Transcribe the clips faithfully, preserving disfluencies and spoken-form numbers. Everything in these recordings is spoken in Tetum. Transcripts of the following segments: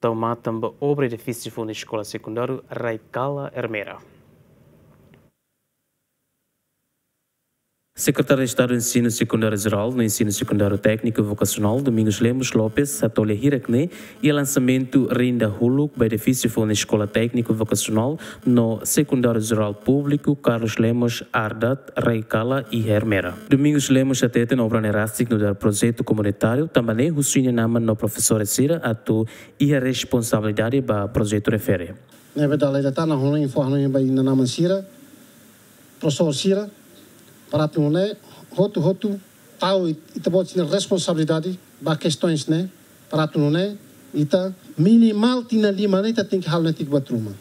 tau matan ba obra edifísiu foun Eskola Sekundáriu Raikala Ermera. Sekretáriu Estadu Ensinu Sekundáriu Jerál no Ensinu Sekundáriu Tékniku Vokasionál, Domingos Lemos Lopes, hato'o lia hirak-ne'e iha lansamentu rinda huluk ba edifísiu foun Eskola Tékniku Vokasionál no Sekundáriu Jerál Públiku Carlos Lemos Ardat Raikala iha Ermera. Domingos Lemos hateten obra ne'e rasik nu'udar projetu komunitáriu, tanba ne'e husu inan-aman no profesór sira atu iha responsabilidade ba projetu refere. Ne'ebé dala ida tan ha'u hanoin, fó hanoin ba inan-aman sira, profesór sira, para atu nune'e hotu-hotu tau it-, ita-boot sira-nia responsabilidade ba kestaun ne'e, para atu nune'e ita minimál tinan lima ne'e ita tenke halo netik buat ruma.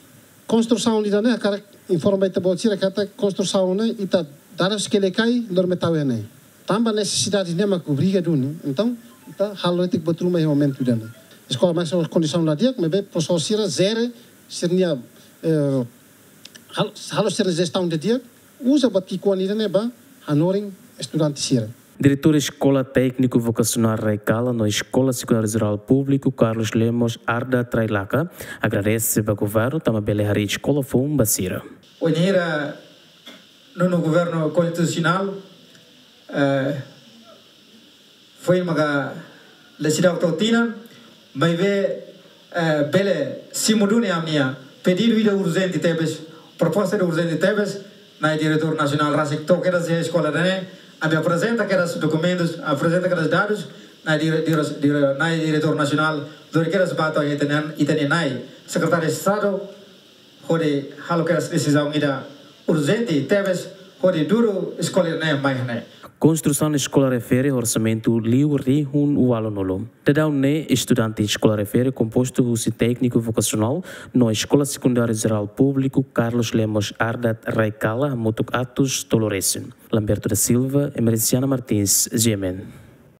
Konstrusaun ida-ne'e hakarak informa ita-boot sira katak konstrusaun ne'e ita dada sekali kai, lori mai tau iha ne'e. Tanba nesesidade ne'e mak obriga duni. Entaun, ita halo netik buat ruma iha momentu ida-ne'e. Eskola mak iha kondisaun la di'ak, maibé profesór sira jere sira-nia, eh, hal-, halo sira-nia jestaun di'ak, uza buat ki'ikoan ida-ne'e ba hanorin estudante sira. Diretór Eskola Tékniku Vokasionál Raikala no Eskola Sekundáriu Jerál Públiku Carlos Lemos Ardat Raikala agradese ba governu tanba bele harii eskola foun ba sira. Wainhira nonu governu konstitusionál, eh, foin maka la seidauk tau tinan, maibé, eh, bele simu duni ami-nia pedidu ida urjente tebes, proposta ida urjente tebes, Na'i Diretór Nasionál rasik to'o kedas iha eskola ida-ne'e, ami aprezenta kedas dokumentus, aprezenta kedas dadus, Na'i Dire-, Dire-, Dire-, Na'i Diretór Nasionál lori kedas ba to'o ita-nia, ita-nia Na'i Sekretáriu Estadu, hodi halo kedas desizaun ida urjente tebes, hodi dudu eskola ne'e mai iha ne'e. Konstrusaun eskola refere orsamentu liu rihun ualunulu. Daudaun ne'e estudante eskola refere kompostu husi tékniku vokasionál no Eskola Sekundáriu Jerál Públiku Carlos Lemos Ardat Raikala hamutuk atus tolu resin. Lamberto da Silva, Emerenciana Martins, G M N.